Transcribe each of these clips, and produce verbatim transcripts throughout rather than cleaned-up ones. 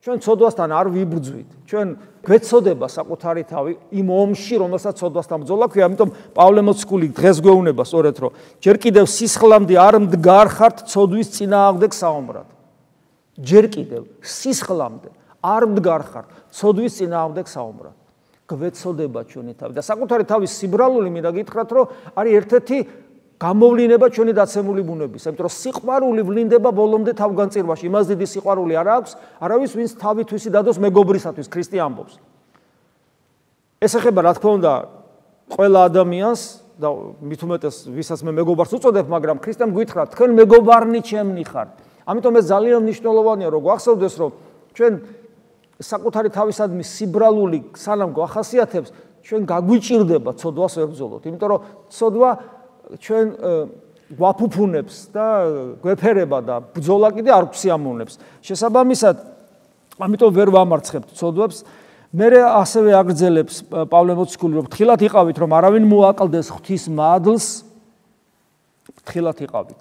ჩვენ ცოდვასთან არ ვიბრძვით. ჩვენ გვეცოდება საკუთარი თავი იმ ომში, რომელსაც ცოდვასთან ბრძოლა ქვია. ამიტომ პავლე მოციქული დღეს გვეუბნება სწორედ, რომ ჯერ კიდევ სისხლამდე არ მდგარხართ ცოდვის წინააღმდეგ საომრად. ჯერ კიდევ სისხლამდე არ მდგარხართ ცოდვის წინააღმდეგ საომრად. გვეცოდება ჩვენი თავი და საკუთარი თავის სიბრალული მინდა გითხრათ, რომ არის ერთ-ერთი გამოვლინება ჩვენი დაცემული ბუნების, იმიტომ რომ სიყვარული ვლინდება ბოლომდე თავგანწირვაში. იმას დიდი სიყვარული არ აქვს არავის, ვინც თავითვისი დადოს მეგობრისათვის, ქრისტე ამბობს. ეს ეხება რა თქმა უნდა ყველა ადამიანს და მით უმეტეს ვისაც მე მეგობარს უწოდებ, მაგრამ ქრისტემ გითხრა, თქვენ მეგობარნი ჩემნი ხართ. ამიტომ ეს ძალიან მნიშვნელოვანია, რომ გვახსოვდეს, რომ ჩვენ საკუთარი თავისადმი სიბრალული სანამ გვახასიათებს, ჩვენ გაგვიჭირდება ცოდვას ვებრძოლოთ, იმიტომ რომ ცოდვა ჩვენ გვაფუფუნებს და გვეფერება და ბრძოლა კიდე არ გვსიამოვნებს. შესაბამისად, ამიტომ ვერ ვამარცხებთ ცოდვებს. მე ასევე აგრძელებს პავლე მოციქული, რომ ფრთხილად იყავით, რომ არავინ მოაკლდეს ღვთის მადლს, ფრთხილად იყავით.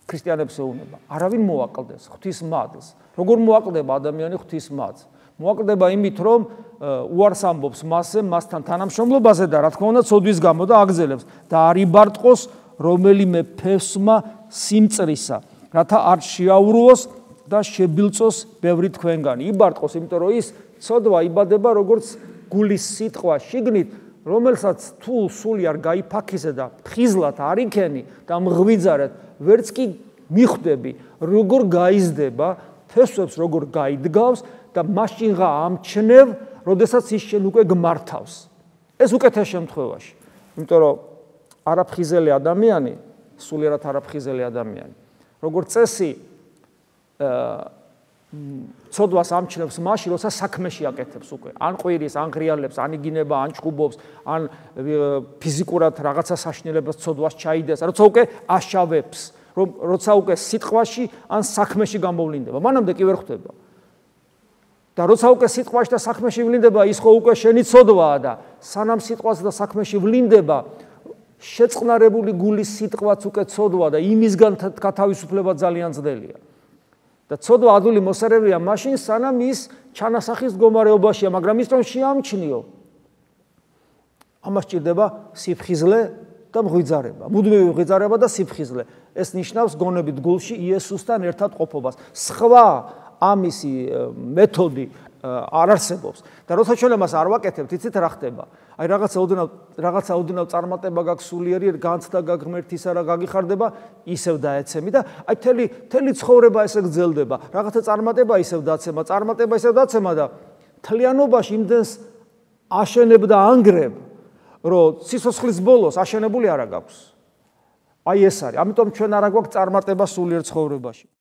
ქრისტიანებს ეუბნება, არავინ მოაკლდეს ღვთის მადლს. როგორ მოაკლდება ადამიანი ღვთის მადლს? მოაკლდება იმით, რომ უარს ამბობს მასზე, მასთან თანამშრომლობაზე და რა თქმა უნდა ცოდვის გამო და აგრძელებს და არ იბარტყოს რომელიმე ფესვმა სიმწრისა, რათა არ შეაურვოს და შებილწოს ბევრი თქვენგანი. იბარტყოს, იმიტომ რომ ის ცოდვა იბადება როგორც გულის სიტყვა შიგნით, რომელსაც თუ სული არ გაიფაქიზე და ფხიზლად არ იქენი და მღვიძარეთ, ვერც კი მიხვდები, როგორ გაიზდება, ფესვებს როგორ გაიდგავს და მაშინღა ამჩნევ, როდესაც ის შენ უკვე გმართავს. ეს უკეთეს შემთხვევაში. იმიტომ რომ არაფხიზელი ადამიანი, სულიერად არაფხიზელი ადამიანი, როგორც წესი, ცოდვას ამჩნევს მაშინ, როცა საქმეში აკეთებს უკვე. ან ყვირის, ან ღრიალებს, ან იგინება, ან ჭუბობს, ან ფიზიკურად რაღაცა საშინელებას ცოდვას ჩაიდეს, როცა უკვე აშავებს, რომ როცა უკვე სიტყვაში ან საქმეში გამოვლინდება. მანამდე კი ვერ ხვდება. და როცა უკვე სიტყვაში და საქმეში ვლინდება, ის ხო უკვე შენი ცოდვაა და სანამ სიტყვას და საქმეში ვლინდება, შეწყნარებული გულის სიტყვაც უკვე ცოდვა და იმისგან გათავისუფლება ძალიან ძნელია. და ცოდვა ადვილი მოსარევია მაშინ, სანამ ის ჩანასახის მდგომარეობაშია, მაგრამ ის რომ შეამჩნიო, ამას ჭირდება სიფხიზლე და მღვიძარება. მუდმივი მღვიძარება და სიფხიზლე. ეს ნიშნავს გონებით გულში იესოსთან ერთად ყოფობას. სხვა ამისი მეთოდი არ არსებობს. და როცა ჩვენ ამას არ ვაკეთებთ, იცით რა ხდება? აი რაღაცა ოდნავ რაღაცა ოდნავ წარმატება გაქვს სულიერი, განცდა გაგმერთისა რა გაგიხარდება, ისევ დაეცემი და აი თელი თელი ცხოვრება ესე გრძელდება. რაღაცა წარმატება ისევ დაცემა, წარმატება ისევ დაცემა და თლიანობაში იმდენს აშენებ და ანგრებ, რომ სიცოცხლის ბოლოს აშენებული არა გაქვს. აი ეს არის. ამიტომ ჩვენ არა გვაქვს წარმატება სულიერ ცხოვრებაში.